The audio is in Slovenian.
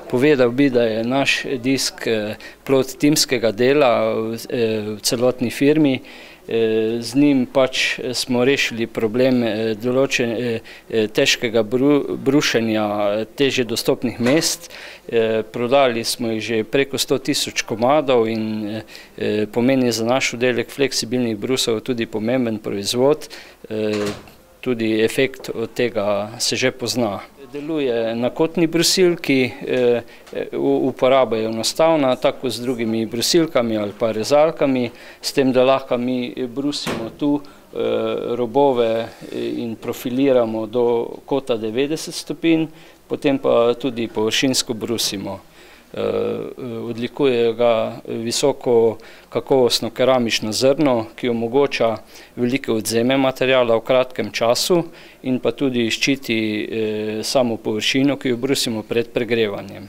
Povedal bi, da je naš disk plod timskega dela v celotni firmi. Z njim pač smo rešili problem težkega brušenja težje dostopnih mest. Prodali smo jih že preko 100.000 komadov in pomeni za naš oddelek fleksibilnih brusov tudi pomemben proizvod. Tudi efekt od tega se že pozna. Deluje na kotni brusilki, uporaba je enostavna, tako z drugimi brusilkami ali pa rezalkami, s tem, da lahko mi brusimo tu robove in profiliramo do kota 90 stopinj, potem pa tudi površinsko brusimo. Odlikuje ga visoko kakovostno keramično zrno, ki omogoča velike odvzeme materiala v kratkem času in pa tudi ščiti samo površino, ki jo brusimo pred pregrevanjem.